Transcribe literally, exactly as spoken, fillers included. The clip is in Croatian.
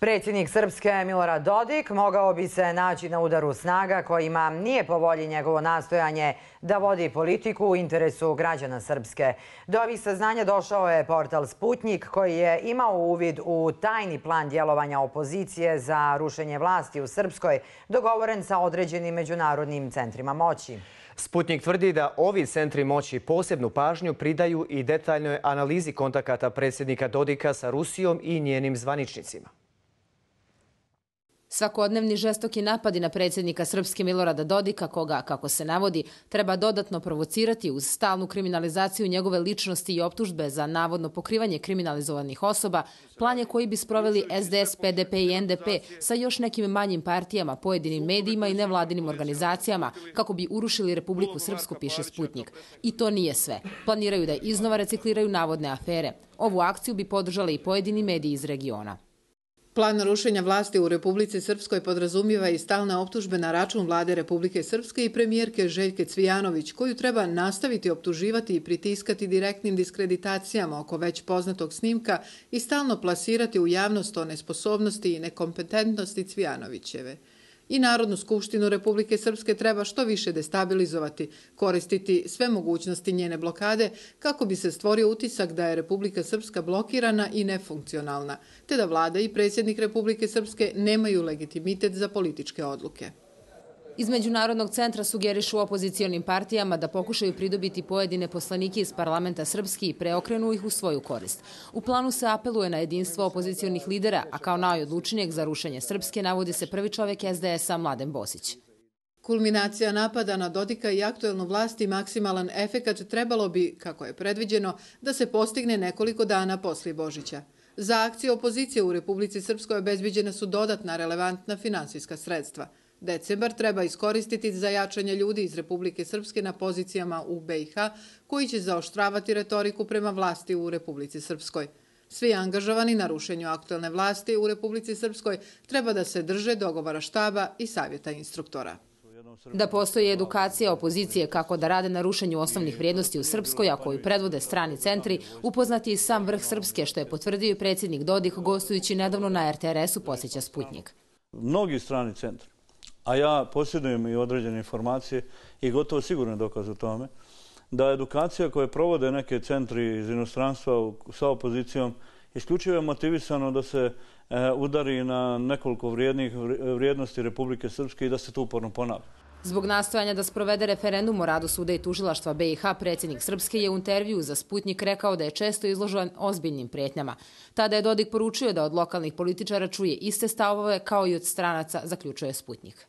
Predsjednik Srpske Milorad Dodik mogao bi se naći na udaru snaga kojima nije po volji njegovo nastojanje da vodi politiku u interesu građana Srpske. Do ovih saznanja došao je portal Sputnik koji je imao uvid u tajni plan djelovanja opozicije za rušenje vlasti u Srpskoj, dogovoren sa određenim međunarodnim centrima moći. Sputnik tvrdi da ovi centri moći posebnu pažnju pridaju i detaljnoj analizi kontakata predsjednika Dodika sa Rusijom i njenim zvaničnicima. Svakodnevni žestoki napadi na predsjednika Srpske Milorada Dodika, koga, kako se navodi, treba dodatno provocirati uz stalnu kriminalizaciju njegove ličnosti i optužbe za navodno pokrivanje kriminalizovanih osoba, plan je koji bi sproveli S D S, P D P i N D P sa još nekim manjim partijama, pojedinim medijima i nevladinim organizacijama, kako bi urušili Republiku Srpsku, piše Sputnik. I to nije sve. Planiraju da iznova recikliraju navodne afere. Ovu akciju bi podržali i pojedini mediji iz regiona. Plan rušenja vlasti u Republici Srpskoj podrazumijeva i stalne optužbe na račun vlade Republike Srpske i premijerke Željke Cvijanović, koju treba nastaviti optuživati i pritiskati direktnim diskreditacijama oko već poznatog snimka i stalno plasirati u javnost o nesposobnosti i nekompetentnosti Cvijanovićeve. I Narodnu skupštinu Republike Srpske treba što više destabilizovati, koristiti sve mogućnosti njene blokade kako bi se stvorio utisak da je Republika Srpska blokirana i nefunkcionalna, te da vlada i predsjednik Republike Srpske nemaju legitimitet za političke odluke. Iz Međunarodnog centra sugerišu opozicijonim partijama da pokušaju pridobiti pojedine poslanike iz parlamenta Srpski i preokrenu ih u svoju korist. U planu se apeluje na jedinstvo opozicijonih lidera, a kao najodlučnijeg za rušenje Srpske navodi se prvi čovjek S D S-a Mladen Bosić. Kulminacija napada na Dodika i aktuelnu vlast i maksimalan efekat trebalo bi, kako je predviđeno, da se postigne nekoliko dana poslije Božića. Za akcije opozicije u Republici Srpskoj obezbeđena su dodatna relevantna finansijska sredstva. Decembar treba iskoristiti za jačanje ljudi iz Republike Srpske na pozicijama u B i H, koji će zaoštravati retoriku prema vlasti u Republici Srpskoj. Svi angažovani na rušenju aktuelne vlasti u Republici Srpskoj treba da se drže dogovora štaba i savjeta instruktora. Da postoji edukacija opozicije kako da rade na rušenju osnovnih vrijednosti u Srpskoj, a koju predvode strani centri, upoznati i sam vrh Srpske, što je potvrdio i predsjednik Dodik gostujući nedavno na R T R S-u, posjeća Sputnik. Mnogi strani centri, a ja posjedujem i određene informacije i gotovo sigurno dokaz o tome, da edukacija koje provode neke centri iz inostranstva sa opozicijom isključivo je motivisano da se udari na nekoliko vrijednih vrijednosti Republike Srpske i da se to uporno ponavlja. Zbog nastojanja da sprovede referendum o radu suda i tužilaštva B i H, predsjednik Srpske je u intervju za Sputnik rekao da je često izložen ozbiljnim prijetnjama. Tada je Dodik poručio da od lokalnih političara čuje iste stavove kao i od stranaca, zaključuje Sputnik.